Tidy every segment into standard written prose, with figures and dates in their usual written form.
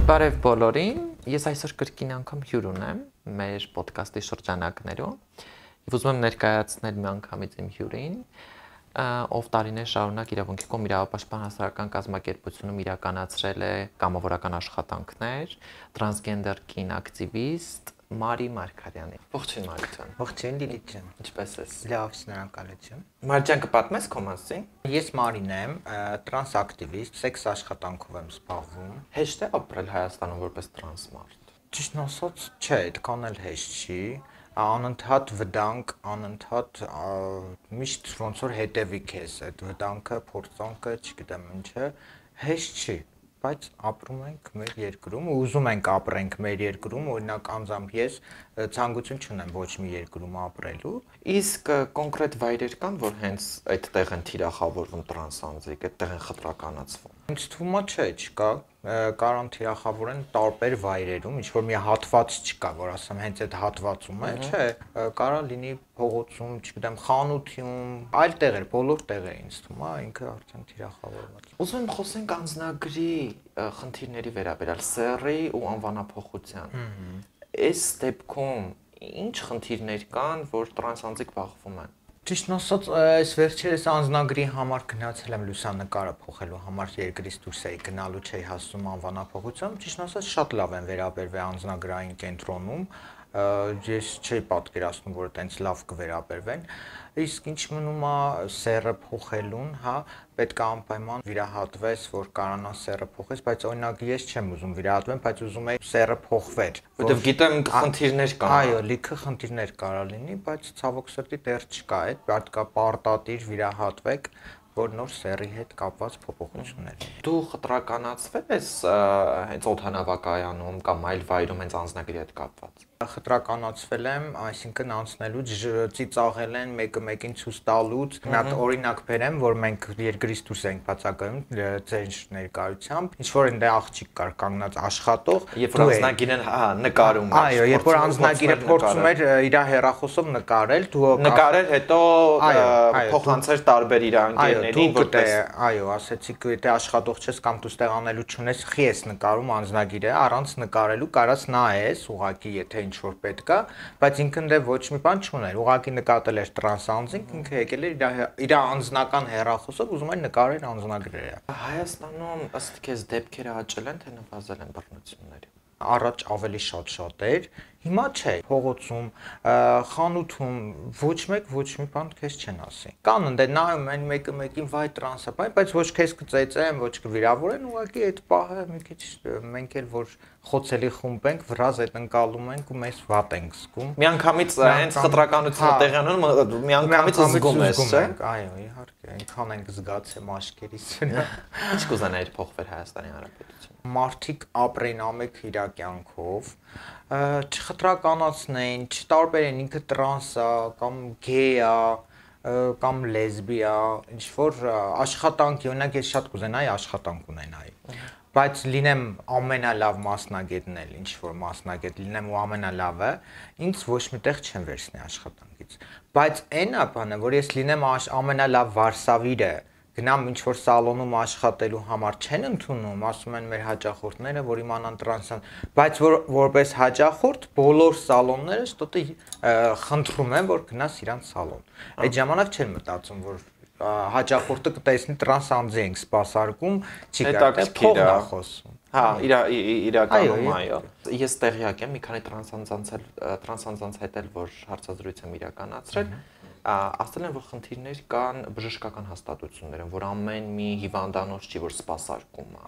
Բարև բոլորին, ես այսօր կրկին անգամ հյուր ունեմ մեր ոդկասթի շրջանակներում եւ ուզում եմ ներկայացնել մի անգամից իմ հյուրին, ով տարիներ շարունակ իրավունքի կողմ իրավապաշտպան հասարակական կազմակերպությունում իրականացրել է կամավորական աշխատանքներ, տրանսգենդեր կին ակտիվիստ Մարի Մարգարյանի։ Ողջույն Մարի ջան։ Ողջույն Լիլիթ ջան։ Ինչպե՞ս ես։ Լավ, շնորհակալություն։ Մարի ջան, կպատմես քո մասին։ Ես Մարին եմ, տրանս ակտիվիստ, սեքս աշխատանքով եմ զբաղվում։ Հեշտ է ապրել Հայաստանում որպես տրանս մարդ։ Ճիշտն ասած, չէ, այդքան էլ հեշտ չի։ Անընդհատ վտանգ, անընդհատ միշտ ոնց որ հետևի քեզ այդ վտանգը, փորձանքը, չգիտեմ ինչը, հեշտ չի, բայց ապրում ենք մեր երկրում, ուզում ենք ապրենք մեր երկրում, օրինակ անձամբ ես ցանկություն չունեմ ոչ մի երկրում ապրելու։ Իսկ կոնկրետ վայրեր կան, որ հենց այդտեղ են թիրախավորվում տրանս անձիկ, այդտեղ են խտրականացվում։ Ինձ թվում է չէ, չկա, կարան թիրախավորեն տարբեր վայրերում, ինչ որ մի հատված չկա, որ ասեմ հենց այդ հատվածում է, չէ, կարա լինի փողոցում, չգիտեմ, խանութում, այլ տեղեր, բոլոր տեղեր ինձ թվում է, ինքը արդեն թիրախավորված։ Ուզում եմ խոսենք անձնագրի խնդիրների վերաբերյալ, սեռի ու անվանափոխության։ Այս դեպքում ինչ խնդիրներ կան, որ տրանս անձիկ բախվում են։ Ճիշտն ասած, այս վերջերս անձնագրի համար գնացել եմ լուսանկարը փոխելու համար երկրից դուրս էի գնալու չէի հասնում անվանափոխությամբ, ճիշտն ասած շատ լավ են վերաբերվել անձնագրային կենտրոնում, ես չէի պատկերացնում, որ այտենց լավ կվերաբերվեն, իսկ ինչ մնում է սեռը փոխելուն, հա, պետք է անպայման վիրահատվես, որ կարողանաս սեռը փոխես, բայց օրինակ ես չեմ ուզում վիրահատվեմ, բայց ուզում եի սեռը փոխվեր, որովհետև գիտեմ խնդիրներ կան։ Այո, լիքը խնդիրներ կարա լինի, բայց ցավոք սրտի դեռ չկա այդ, պետք է պարտադիր վիրահատվեք, որ նոր սեռի հետ կապված փոփոխություններ։ Դու խտրականացվել ես հենց օդանավակայանում կամ այլ վայրում հենց անձնագրի հետ կապված։ Խտրականացվել եմ, այսինքն անցնելուց ծիծաղել են մեկը մեկին ցույց տալուց։ Մի հատ օրինակ բերեմ, որ մենք երկրից դուրս ենք բացակայում ձեր ներկայությամբ, ինչ որ այնտեղ աղջիկ կար կանգնած աշխատող, երբ որ անձնագիրն նկարում էր։ Այո, երբ որ անձնագիրը փորձում էր իր հեռախոսով նկարել, դու նկարել, հետո փոխանցեր տարբեր իր ընկերներին, որպես այո, ասեցիք, եթե աշխատող չես կամ դու ստեղ անելու չունես, խի ես նկարում անձնագիրը, առանց նկարելու կարաս նայես, ուղղակի եթե ինչ որ պետք է, բայց ինքն դե ոչ մի բան չուներ, ուղղակի նկատել էր տրանս անձինք, ինքը եկել էր իր անձնական հեռախոսով ուզում էր նկարել անձնագրերը։ Հայաստանում ըստ քեզ դեպքերը աճել են, թե նվազել են բռնությունները։ Առաջ ավելի շատ էր, հիմա չէ, փողոցում, խանութում ոչ մի բան քեզ չեն ասի։ Կան ընդ նայում են մեկը մեկին վայ տրանսը, բայց ոչ քեզ կծեծեն, ոչ կվիրավորեն, ուղղակի այդ պահը մի քիչ մենք էլ որ խոցելի խումբ ենք, վրազ այդ ընկալում ենք ու մեզ վատ ենք զգում։ Միանգամից հենց խտրականությունը տեղի ունենում, միանգամից զգում ես, չէ՞։ Այո, իհարկե, այնքան ենք զգացել աշկերից։ Ինչ կուզենայիր փոխվել Հայաստանի Հանրապետությունում։ Մարդիկ ապրեն ամեկ իր կյանքով, չխտրականացնեն, չտարբերեն ինքը տրանս է կամ գեյ է կամ լեսբի է, ինչ որ աշխատանքի, օրինակ ես շատ կուզենայի աշխատանք ունենայի, բայց լինեմ ամենալավ մասնագետն էլ, ինչ որ մասնագետ լինեմ ու ամենալավը, ինձ ոչ միտեղ չեն վերցնի աշխատանքից, բայց այն է բանը, որ ես լինեմ ամենալավ վարսավիրը, գնամ ինչ որ սալոնում աշխատելու համար չեն ընդունում, ասում են մեր հաճախորդները, որ իմանան տրանսան, բայց որպես հաճախորդ բոլոր սալոնները ստոտը խնդրում են, որ գնաս իրանց սալոն։ Այդ ժամանակ չեն մտածում, որ հաճախորդը կտեսնի տրանս անձի ենք սպասարկում, չի կարելի փողն է խոսում։ Հա, իրականում այո։ Ես տեղյակ եմ մի քանի տրանսանձանց հետ էլ որ հարցազրույց եմ իրականացրել, ասել են, որ խնդիրներ կան բժշկական հաստատություններում, որ ամեն մի հիվանդանոց չի, որ սպասարկում է։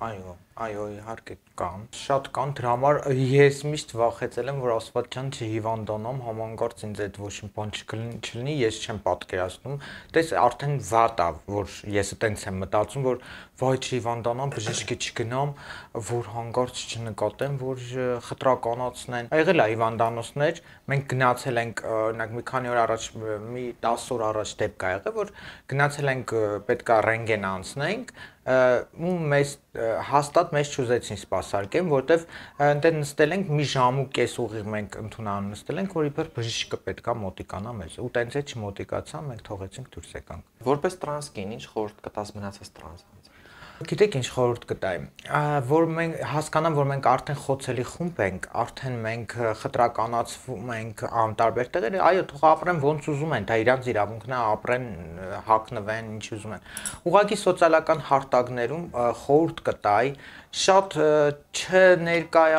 Այո, իհարկե կան։ Շատ կան, դրա համար ես միշտ վախեցել եմ, որ Աստված ջան չհիվանդանամ, համանգարծ ինձ այդ ոչ մի բան չլինի, ես չեմ պատկերացնում։ Տես արդեն վատ է, որ ես այտենց եմ մտածում, որ վայ չհիվանդանամ, բժշկի չգնամ, որ հանգարց չնկատեմ, որ խտրականացնեն։ Եղել է հիվանդանոցներ, մենք գնացել ենք, օրինակ մի քանի օր առաջ, մի 10 օր առաջ դեպք ա եղել, որ գնացել ենք պետք է ռենտգեն անցնենք, ու մեզ հաստատ մեզ չուզեցին սպասարկեն, որտեվ այնտեղ նստել ենք մի ժամ ու կես ուղիղ մենք ընդունանում նստել ենք, որ իբր բժիշկը պետքա մոտիկանա մեզ, ու տենց է չմոտիկացան, մենք թողեցինք դուրս եկանք։ Որպես տրանս կին, ինչ խորհուրդ կտաս մնացած տրանս անձ։ Գիտեք ինչ խորհուրդ կտայի, որ մենք հասկանամ, որ մենք արդեն խոցելի խումբ ենք, արդեն մենք խտրականացվում ենք անտարբեր տեղեր, այո, թող ապրեն ոնց ուզում են, դա իրանց իրավունքն է, ապրեն, հագնվեն, ինչ ուզում են։ Ուղղակի սոցիալական հարթակներում խորհուրդ կտայի շատ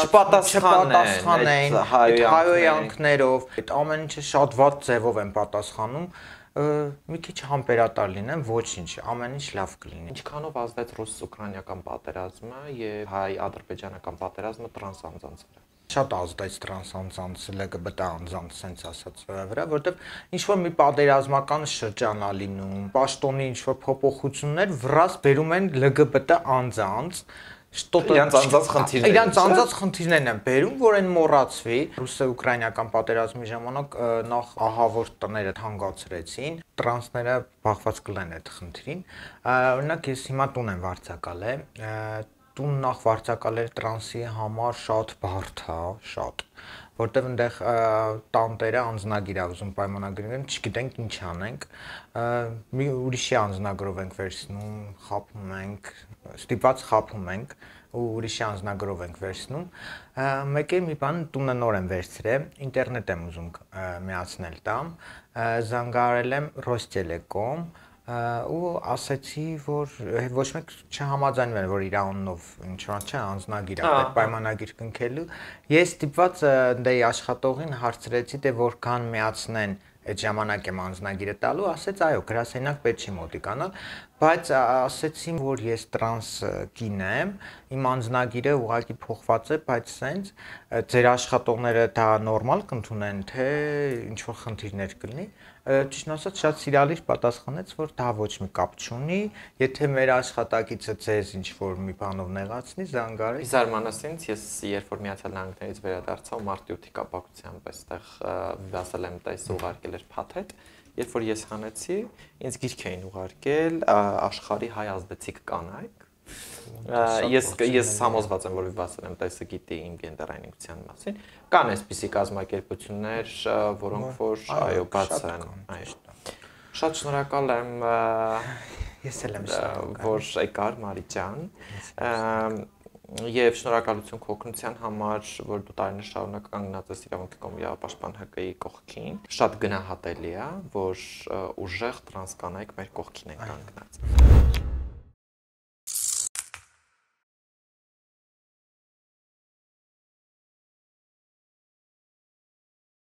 չպատասխանեն հայոյանքներով, այդ ամեն ինչը շատ վատ ձևով են պատասխանում, մի քիչ համբերատար լինեն, ոչինչ, ամեն ինչ լավ կլինի։ Ինչքանով ազդեց ռուս-ուկրաինական պատերազմը եւ հայ-ադրբեջանական պատերազմը տրանս անձանց վրա։ Շատ ազդեց տրանս անձանց, LGBT անձանց sense ասած վրա, որովհետեւ ինչ որ մի պատերազմական շրջան ա լինում, պաշտոնի ինչ որ փոփոխություններ վրաս բերում են LGBT անձանց Իրանց անձած խնդիրներ։ Իրանց անձած խնդիրներն են բերում, որ այն մոռացվի։ Ռուսը-ուկրաինական պատերազմի ժամանակ նախ ահավոր տները թանկացրեցին, տրանսները բախված կլեն այդ խնդրին։ Օրինակ ես հիմա տուն եմ վարձակալել, տուն նախ վարձակալել տրանսի համար շատ բարդ է, շատ, որտեղ այնտեղ տանտերը անձնագիր ա ուզում պայմանագրել, չգիտենք ինչ անենք, մի ուրիշի անձնագրով ենք վերցնում, խաբում ենք, ստիպված խաբում ենք ու ուրիշի անձնագրով ենք վերցնում, մեկ է մի բան տունը նոր եմ վերցրել, ինտերնետ եմ ուզում միացնել տամ, զանգարել եմ Ռոստելեկոմ ու ասացի, որ ոչ մեկ չհամաձայնվել է, որ իր անունով ինչ-որ չէ անձնագիր է, պայմանագիր կնքելու։ Ես ստիպված դե աշխատողին հարցրեցի, դե որքան միացնեն այդ ժամանակ եմ անձնագիրը տալու, ասեց այո, գրասենյակ պետք չի մոտիկանալ, բայց ասեցին, որ ես տրանս կին եմ, իմ անձնագիրը ուղղակի փոխված է, բայց սենց ձեր աշխատողները դա նորմալ կընդունեն, թե ինչ որ խնդիրներ կլինի։ Ճիշտն ասած, շատ սիրալիր պատասխանեց, որ դա ոչ մի կապ չունի, եթե մեր աշխատակիցը ձեզ ինչ որ մի բանով նեղացնի, զանգարեք։ Զարմանասինց ես երբ որ Միացյալ Նահանգներից վերադարձա ու մարտի 8-ի կապակցությամբ այստեղ վասալ եմ տես ուղարկել էր փաթեթ, երբ որ ես հանեցի, ինձ գիրք էին ուղարկել աշխարհի հայ ազդեցիկ կանայք։ Ես համոզված եմ, որ վասալ եմ տեսը գիտի իմ գենդերային ինքնության մասին։ Կան այսպիսի կազմակերպություններ, որոնք որ այո, բաց են, այո։ Շատ շնորհակալ եմ Ես էլ եմ շնորհակալ, որ եկար Մարի ջան։ Եվ շնորհակալություն քո օգնության համար, որ դու տարիներ շարունակ կանգնած ես իրավունքի կոմիտեի ՊԱՇՊԱՆ ՀԿ-ի կողքին։ Շատ գնահատելի է, որ ուժեղ տրանս կանայք մեր կողքին են կանգնած։